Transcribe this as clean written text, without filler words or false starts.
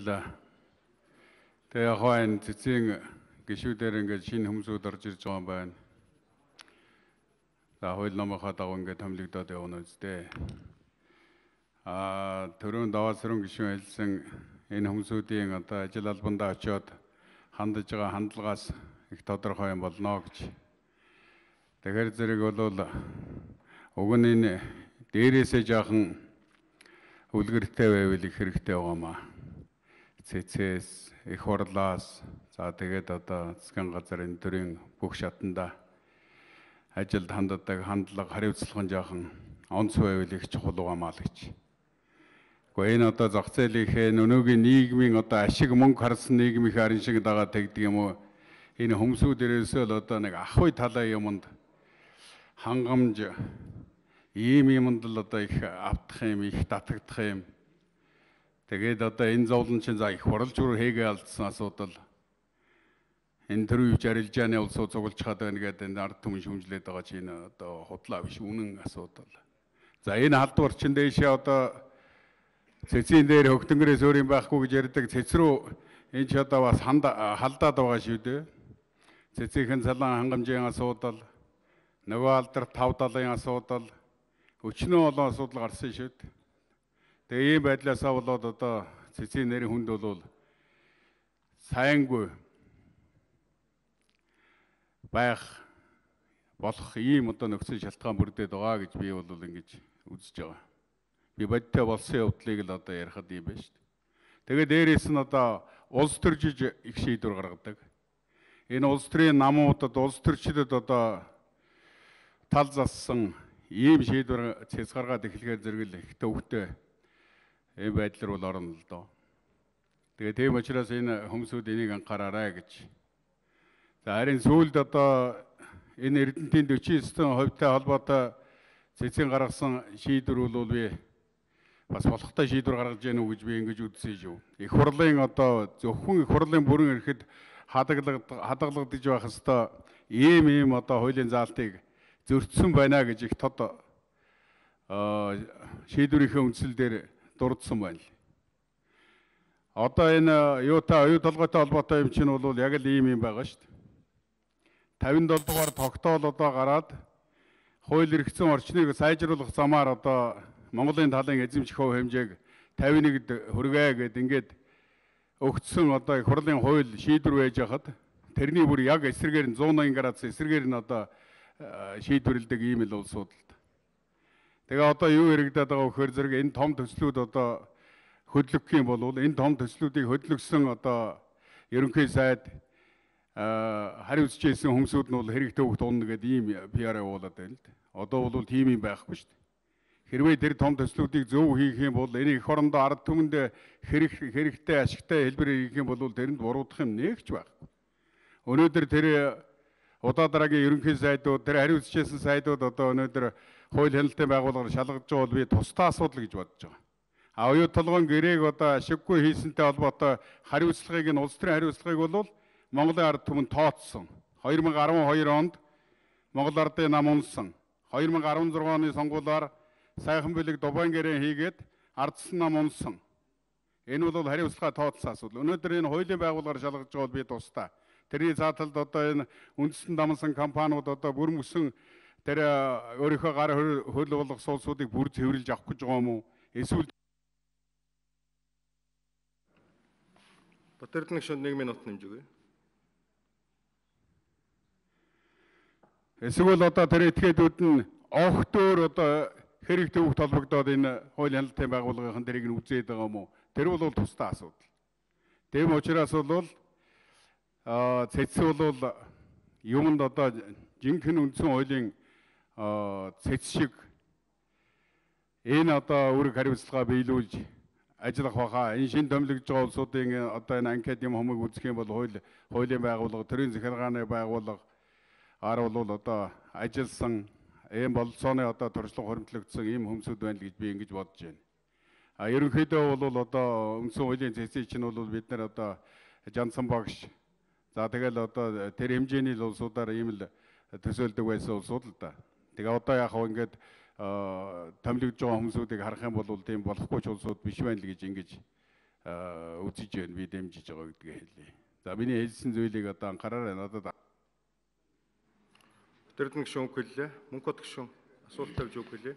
баярлалаа. Тэгээ хойно цэцгийн гишүүдээр ингээд шинэ хүмүүсүүд орж ирж байгаа юм байна. За хууль номынхаа дагуу ингээд томилогдоод явна үстэй. Төрөнд даваасрын гишүүн хэлсэн энэ хүмүүсүүдийн одоо ажил албандаа очиод хандж байгаа хандлагаас их тодорхой юм болно гэж. Тэгэхээр зэрэг бол уг нь энэ дээрээсээ жаахан үлгэртэй байвал их хэрэгтэй байгаамаа. Цэцээс, их хурлаас, за тэгээд одоо засгийн газар энэ төрлийн бүх шатанда ажилд ханддаг хандлага хариуцлага жаахан онц байвал их чухал байгаамаа л гэж. Гэхдээ энэ одоо зах зээлийнхээ өнөөгийн нийгмийн одоо ашиг мөнгө харсан нийгмийн харин шиг дагаад тэгдэг юм уу? Энэ хүмүүсүүд ерөөсөө л одоо нэг ахуй талаа юмд хангамж ийм юмд л одоо их автах юм, их татагдах юм. Тэгээд одоо энэ зовлон чинь за их хуралж хийгээ алдсан асуудал. Энэ төрийн үеч арилжааны улсууд цуглаж хаад байна гэдэг энэ ард түмэн шүмжлээд байгаа чинь одоо худлаа биш үнэн асуудал. За энэ халдвар чинь дээшээ одоо цэцгийн дээр хөгтөнгөрөөс өөр юм байхгүй гэж ярьдаг цэц рүү энэ ч одоо бас халдаад байгаа шүү дээ. Цэцгийн салан хангамжийн асуудал, нөгөө алдарт 5 далайн асуудал, өчнөө олон асуудал гарсан шүү дээ. Тэгээ ийм байдлаасаа болоод одоо цэцгийн нэрийн хүнд бол сайнгүй байх болох ийм одоо нөхцөл шалтгаан бүрдээд байгаа гэж би бол ингэж үзэж байгаа. Би бодтой болсон явдлыг л одоо ярихад юм байна шүү дээ. Тэгээд дээрээс нь одоо улс төржиж их шийдвэр гаргадаг. Энэ улс төрийн намуудад улс төрчлөд одоо тал зассан ийм шийдвэр цэц гаргаад эхлэхээр зэрэг л их төвхтэй ийм байдлаар бол орно л доо. Тэгээ тийм учраас энэ хүмүүсүүд энийг анхаараарай гэж. За харин сүүлд одоо энэ Эрдэнэтийн 49%-тай холбоотой цэцгийн гаргасан шийдвэр бол би бас болохтой шийдвэр гаргаж яах уу гэж би ингэж үзсэн шүү. Их хурлын одоо зөвхөн их хурлын бүрэн эрэхэд хадгалагдаж байх хэвээр ийм одоо хуулийн заалтыг зөрчсөн байна гэж их тод шийдвэрийнхээ үндсэл дээр дурдсан байна. Одоо энэ юутай оюу толгойтой холбоотой юм чинь бол яг л ийм юм байгаа шүү дээ. 57 дугаар тогтоол одоо гараад хууль эрхцэн орчныг сайжруулах замаар одоо Монголын талын эзэмших хувь хэмжээг 51-д хүргээ гэд ингээд өгцсөн одоо их хурлын хууль шийдвэр байж хахад тэрний бүр яг эсрэгээр нь 180 градус эсрэгээр нь одоо шийдвэрлэдэг ийм л улсууд л. Тэгээ одоо юу яригадаад байгаа вөхөр зэрэг энэ том төслүүд одоо хөдлөх юм бол энэ том төслүүдийг хөдлөсөн одоо ерөнхий сайд хариуцж ирсэн хүмүүсүүд нь бол хэрэгтэй хөвгт унна гэдэг ийм PR явуулаад байна л да. Одоо бол тийм юм байхгүй шүү дээ. Хэрвээ тэр том төслүүдийг зөв хийх юм бол энэ эх орондоо ард түмэнд хэрэгтэй ашигтай хэлбэр хийх юм бол тэрэнд буруудах юм нэгч байхгүй. Өнөөдөр тэр удаа дараагийн ерөнхий сайдууд, тэр хариуцж ирсэн сайдууд одоо өнөөдөр хууль хяналтын байгууллагаар шалгаж байгаа бол би тусдаа асуудал гэж бодож байгаа. Оюу толгойн гэрээг одоо ашиггүй хийсэнтэй холбоотой хариуцлагыг нь улс төрийн хариуцлагыг бол Монголын ард түмэнд тооцсон. 2012 онд Монгол ардын нам унсан. 2016 оны сонгуулиар сайхан бэлэг Дубайн гэрээ хийгээд ардсан нам унсан. Энэ бол хариуцлага тооцсон асуудал. Өнөөдөр энэ хуулийн байгууллагаар шалгаж байгаа бол би тусдаа. Тэрний зааталд одоо энэ үндэстэн дамсан компаниуд одоо бүр мөсөн тэр өөрийнхөө гар хөл болох суулсуудыг бүр цэвэрлж авах гэж байгаа юм уу? Эсвэл Батэрдэн гишүүнд 1 минут нэмж өгье. Эсвэл одоо тэр этгээдүүд нь огтөөр одоо хэрэг төвөгт холбогдоод энэ хууль хяналтын байгууллагын дэрийг нь үзээд байгаа юм уу? Тэр бол тусдаа асуудал. Тийм учраас бол цэц бол юмд одоо жинхэнэ үндсэн хуулийн цэц шиг энэ одоо үүрэг хариуцлага биелүүлж ажиллах баха. Энэ шин томилогдож байгаа улсуудын одоо энэ анкет юм хумыг үзэх юм бол хуулийн байгууллага, төрийн захиргааны байгууллага бол одоо ажилласан ийм бололцооны одоо туршлага хуримтлагдсан ийм хүмүүсүүд байна л гэж би ингэж бодож байна. Ерөнхийдөө бол одоо үндсэн хуулийн цэцийг чинь бол бид нар одоо Жансан багш за тэгэл одоо тэр хэмжээний улсуудаар ийм л төсөөлдөг байсан улсууд л да. Тэгээ одоо яг хөө ингээд томилогдож байгаа хүмүүсүүдийг харах юм бол тийм болохгүй ч улсууд биш байна л гэж ингэж үзэж байна, би дэмжиж байгаа гэдгээ хэлье. За миний хэлсэн зүйлийг одоо анхаараарай надад. Өтөрдөн гишүүн үг хэллээ. Мөнх бод гишүүн асуулт тавьж үг хэлье.